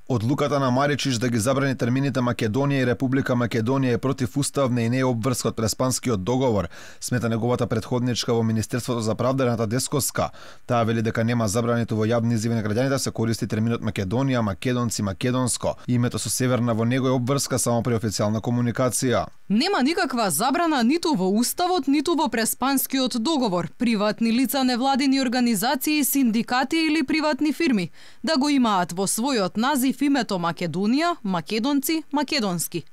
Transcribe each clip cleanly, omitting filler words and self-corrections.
Одлуката на Маричиш да ги забрани термините Македонија и Република Македонија е противуставна и не е обврска од Преспанскиот договор, смета неговата претходничка во Министерството за правда Рената Десковска. Таа вели дека нема забрането во јавни изјави на граѓаните се користи терминот Македонија, македонци, македонско. Името со Северна во него е обврска само при официјална комуникација. Нема никаква забрана ниту во Уставот, ниту во Преспанскиот договор. Приватни лица, невладини организации, синдикати или приватни фирми да го имаат во својот назив името Македонија, македонци, македонски.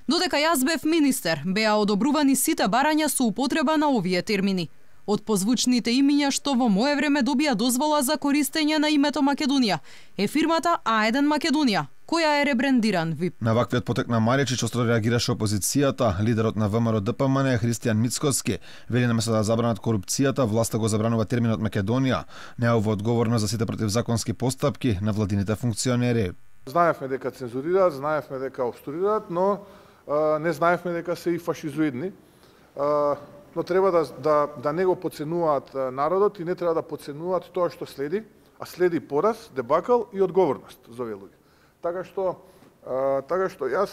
Додека јас бев министер, беа одобрувани сите барања со употреба на овие термини. Од позвучните имиња што во мое време добија дозвола за користење на името Македонија е фирмата А1 Македонија, која е ребрендиран ВИП. На ваквиот потек на Маричич остро реагираше опозицијата. Лидерот на ВМРО ДПМН Христијан Мицкоски вели наместо да забранат корупцијата, власта го забранува терминот Македонија. Неово одговорно за сите противзаконски постапки на владините функционери. Знаевме дека цензурираат, знаевме дека обструираат, но не знаевме дека се и фашизоидни. Но треба да не го подценуваат народот и не треба да подценуваат тоа што следи, а следи пораз, дебакал и одговорност за овие луѓе. Така што јас,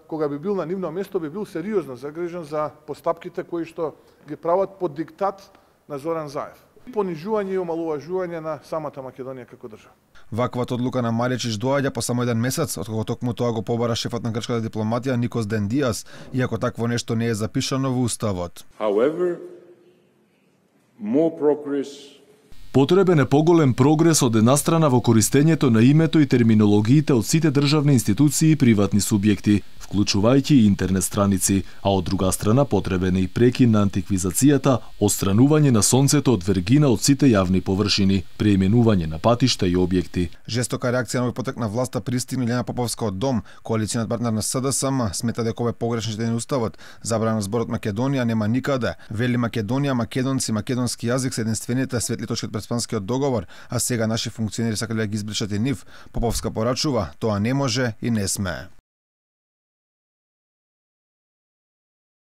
кога би бил на нивно место, би бил сериозно загрижен за постапките кои што ги прават под диктат на Зоран Заев. Понижување и омалуважување на самата Македонија како држава. Ваквата одлука на Маричиш доаѓа по само еден месец, откако токму тоа го побара шефот на грчката дипломатија Никос Дендијас, иако такво нешто не е запишано во Уставот. However, more progress. Потребен е поголем прогрес од една страна во користењето на името и терминологиите од сите државни институции и приватни субјекти, вклучувајќи и интернет страници, а од друга страна потребен е и прекин на антиквизацијата, отстранување на сонцето од вергина од сите јавни површини, преименување на патишта и објекти. Жестока реакција на овој потек на власта пристигна Илјана Поповска од Дом, коалицијниот партнер на СДСМ, смета дека ова е погрешно читање на Уставот. Забрана зборот Македонија нема никаде. Вели Македонија, македонци, македонски јазик се единствените светли точки од Преспанскиот договор, а сега наши функционери сакале да ги избришат и нив. Поповска порачува, тоа не може и не смее.